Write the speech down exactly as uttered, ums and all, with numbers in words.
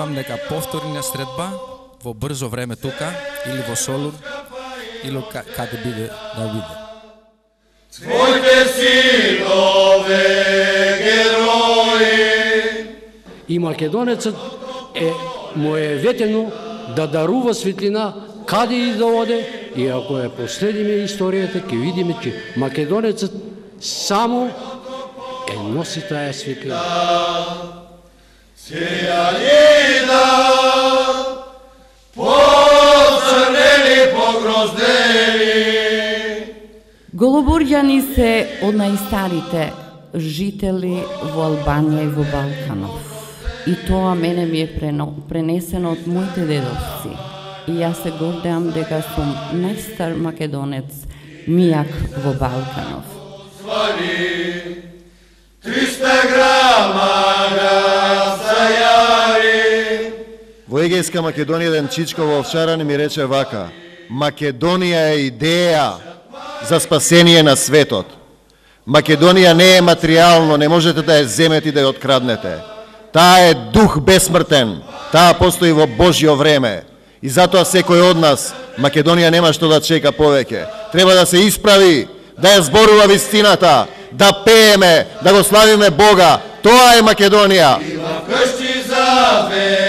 надевам дека повторна средба во брзо време тука, или во Солун, или каде биде да биде. Твоите синове герои. И македонецот е му е ветено да дарува светлина каде и да оде, и ако ја последиме историјата, ќе видиме че македонецот само е носи таа светлина. Сејалина, поцрнели, погроздели. Голобурѓани се од најстарите жители во Албанија и во Балканов. И тоа мене ми е пренесено од моите дедовци. И јас се гордеам дека сум најстар македонец мијак во Балканов. Свали, триста грама сајари. Во Егејска Македонија еден чичко во овчарани ми рече вака: Македонија е идеја за спасение на светот. Македонија не е материјално, не можете да ја земете и да ја откраднете. Таа е дух бесмртен, таа постои во Божјо време. И затоа секој од нас, Македонија нема што да чека повеќе. Треба да се исправи, да ја зборува вистината, да пееме, да го славиме Бога. Тоа е Македонија. Има кршти за ве